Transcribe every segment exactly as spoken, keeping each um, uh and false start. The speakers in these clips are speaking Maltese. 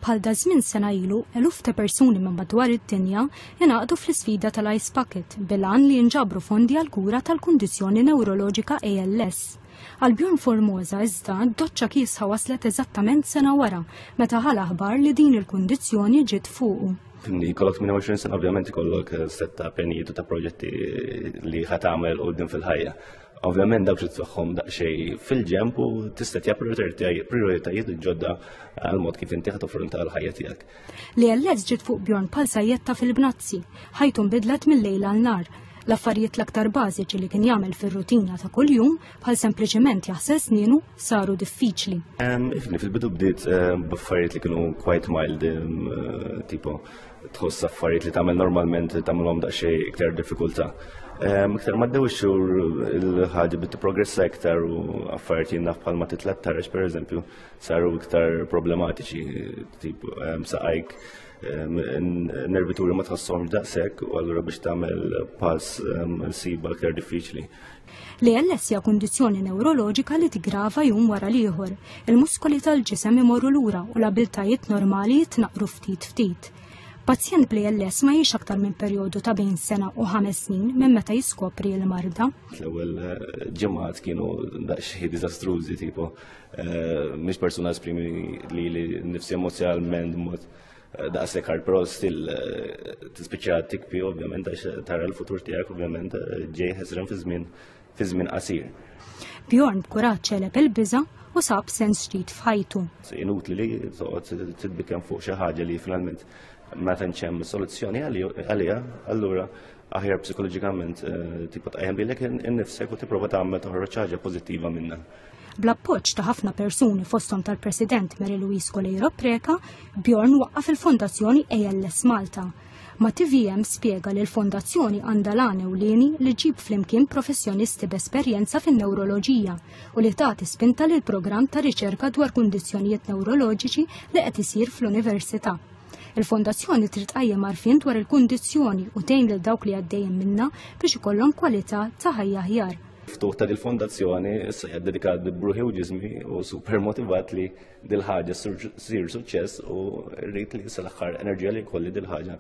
Bħal daż-żmien sena ilu, eluf ta' persuni minn madwar id-dinja ingħaqdu fl-isfida tal-Ice Bucket bil-għan li jinġabru fondi għal kura tal-kundizzjoni newroloġika A L S. Għal Bjorn Formosa iżda, doċċa kiesħa waslet eżattament sena wara, meta ħa l-aħbar li din il-kundizzjoni ġiet fuqu. Ikollok tmienja u għoxrin sena, ovvjament ikollok sett ta' pjanijiet u ta' proġetti li ħa tagħmel quddiem fil-ħajja. Ovvjament dawk titfagħhom daqsxejn fil-ġemp u tista' prioritajiet ġodda għal mod kif inti toffronta l-ħajja tiegħek. L-A L S ġiet fuq Bjorn bħal sajjetta fil-bnazzi, ħajtu nbidlet mill-lejl għal nhar. L-affarijiet l-aktar bażiċi li kien jagħmel fir-rutina ta' kuljum, bħal sempliċement jaħsel snienu, saru diffiċli. Ifni, fil-bidu bdiet b'affarijiet li kienu quite mild, tipo tħoss affarijiet li tagħmel normalment tagħmelhom daqsxejn iktar diffikultà. Iktar ma għaddew ix-xhur, il-ħaġa bdiet progressa iktar u affarijiet jien naf bħal ma titla' taraġ, per eżempju, saru iktar problematiċi, tipo saqajk nervituri ma tħosshomx daqshekk u allura biex tagħmel pass ssibha iktar diffiċli. L-A L S hija kundizzjoni neuroloġika li tigrava jum wara l-ieħor. Il-muskoli tal-ġisem imorru lura u l-abiltajiet normali jitnaqru ftit ftit. Pazjent bl-A L S ma jgħix aktar minn perjodu ta' bejn sena u ħames snin minn meta jiskopri l-marda. L-ewwel ġimgħat kienu daqsxejn diżastrużi, tipo mhix persuna esprimi li li nifsi emozjonalment mod daqshekk hard, però still tispiċċa tibki, ovvjament, għax tara l-futur tiegħek ovvjament ġej ħesrem fi żmien fi żmien qasir. Bjorn b'kuraġġ għeleb il-biża u sab sens ġdid f'ħajtu. Inutli li toqgħod titbikkem fuq xi ħaġa li finalment ma tantx hemm soluzzjoni għaliha, allura aħjar psikoloġikament tipo tqajjem lilek innifsek u tipprova tagħmel toħroġ ħaġa pożittiva minnha. Bl-appoġġ ta' ħafna persuni, fosthom tal-President Mary Louise Coleiro Preca, Bjorn waqqaf il-Fondazzjoni A L S Malta. Ma' T V M spiega li l-fondazzjoni għandha l-għan ewlieni li ġġib flimkien professjonisti b'esperjenza fin-neuroloġija u li tagħti spinta lil programm ta' riċerka dwar kundizzjonijiet neuroloġiċi li qed isir fl-università. Il-fondazzjoni trid tqajjem għarfien dwar il-kundizzjoni u tgħin lil dawk li għaddejjin minnha biex ikollhom kwalità ta' ħajja aħjar. Ftuħ ta' dil-fondazzjoni issa hija dedikat b'ruħi u ġismi u super motivat li dil-ħaġa ssir suċċess u rrid li sal-aħħar enerġija li jkolli dil-ħaġa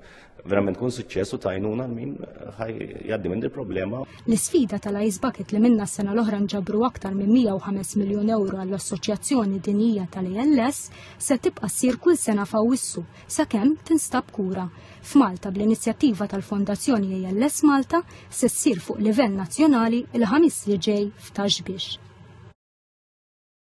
verament tkun suċċess u t'għajnuna min ħa jgħaddi minn dil-problema. L-isfida tal-Ice Bucket, li minna s-sena l-oħra nġabru aktar minn mija u ħames miljun euro għall-Assoċjazzjoni Dinjija tal-A L S, se tibqa' ssir kull sena f'Awwissu sakemm tinstab kura. F'Malta, bl-inizjattiva tal-Fondazzjoni A L S Malta, se ssir fuq livell nazzjonali il-Ħamis li ġej f'Ta' Xbiex.